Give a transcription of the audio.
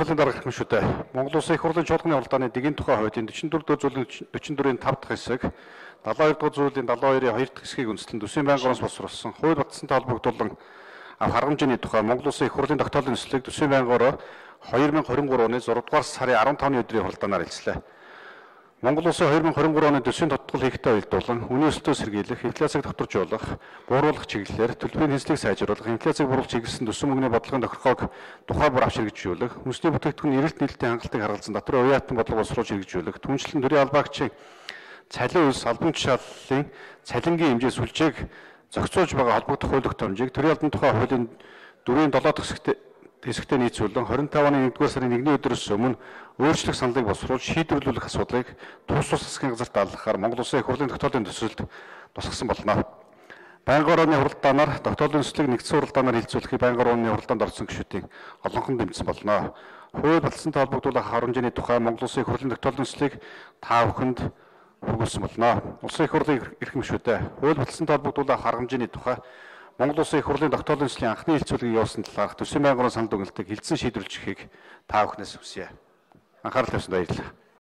Саналын дарга гишүүдээ Монгол Улсын их хурлын чуулганы уралдааны дэгийн тухай хуулийн 44-р зүйлийн 44-ийн 5 дахь хэсэг, 72-р зүйлийн 72-ийн 2 дахь хэсгийг үндэслэн Төсвийн байнгын ороос босруулсан хууль баталсантай холбогдуулан харга хэмжээний тухай Монгол Улсын их хурлын тогтоолын төслийг Төсвийн байнгын ороо 2023 оны 6 дугаар сарын 15-ны өдрийн хуралдаанаар хэлцлээ. Монгол Улсын 2023 оны төсвийн тодтгол хийхтэй уялдуулан үнийн өсөлтөө сэргийлэх, инфляцийг тогтворжуулах, бууруулах чиглэлээр төлбөрийн хяналтыг сайжруулах, инфляцийг буруулах чиглэсэн төсвийн мөнгөний бодлогын тохиргоог тухай бүр авч хэрэгжүүлэх, хүнсний бүтээгдэхүүн эрэлт нийлэлтийн хангалтыг харгалзан дотор уяатан бодлого боловсруулж хэрэгжүүлэх, түншлэн төрийн албаагчийн цалин үйлс албан тушааллын цалингийн хэмжээ сүлжээг зохицуулж байгаа холбогдох хууль тогтоомжийг төрийн албан тухай хуулийн 4-ийн 7 дахь хэсэгтээ нийцүүлэн 25 оны 1-р сарын 1-ний өдрөөс өмнө өөрчлөх саналыг боловсруулж шийдвэрлүүлэх асуудлыг тус засгийн газарт даалгахаар Монгол Улсын их хурлын тогтоолын төсөлд тусгасан болно. Байнгын орооны хуралдаанаар тогтоолын төслийг нэгдсэн хуралдаанаар хилцүүлэхийг байнгын орооны хуралдаанд орсон гишүүдийн олонхон дэмжсэн болно. Хууль баталсантай холбогдуулах харга хэмжээний тухай Монгол Улсын их хурлын тогтоолын төслийг та бүхэнд хүргүүлсэн болно. Улсын их хурлын эрхэм гишүүдээ хууль баталсантай холбогдуулах харга хэмжээний тухай Монгол Улсын их хурлын тогтоолын төслийн анхны хилцүүлгийг явуулсан талаарх Төсвийн байнгын орон санал дүгнэлтийг хилцэн шийдвэрлэж өгөхийг та бүхнээс хүсье. Анхаарал тавьсанд баярлалаа.